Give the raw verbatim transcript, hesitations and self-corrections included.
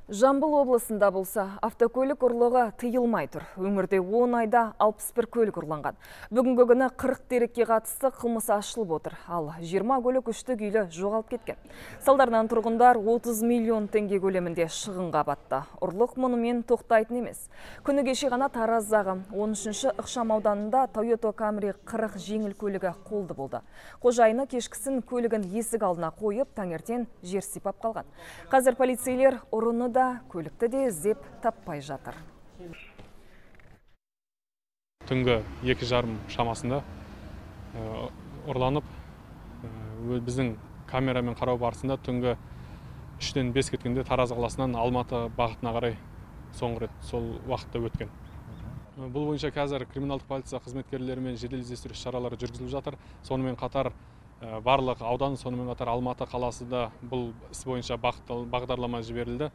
Жамбыл облысында болса, автокөлік ұрлығы тыйылмай тұр. Өңірде он айда алпыс бір көлік ұрланған. Бүгінгі күні қырық дерекке қатысты қылмыс ашылып отыр. Ал жиырма көлік үшті күйлі жоғалып кеткен. Салдарынан тұрғындар отыз миллион теңге көлемінде шығынға батты. Ұрлық мұнымен тоқтайтын емес. Күні кеше ғана Тараздағы он үшінші ықшам ауданында Toyota Camry қырық жеңіл көлігі қолды болды. Қожайыны кешкісін көлігін есік алдына қойып, таңертең жер сипап қалған. Қазір полицейлер ұрыны да көлікті де іздеп таппай жатыр. Түнгі екі жарым шамасында ұрланып, біздің камерамен қарау барысында түнгі үштен бес кеткенде Тараз қаласынан Алматы бағытына қарай соңғы рет сол уақытта өткен. Бұл бойынша қазір криминалдық полиция қызметкерлерімен жедел іздестіру шаралары жүргізіліп жатыр. Сонымен қатар барлық аудан, сонымен қатар Алматы қаласы да бұл іс бойынша бағдарлама жіберілді.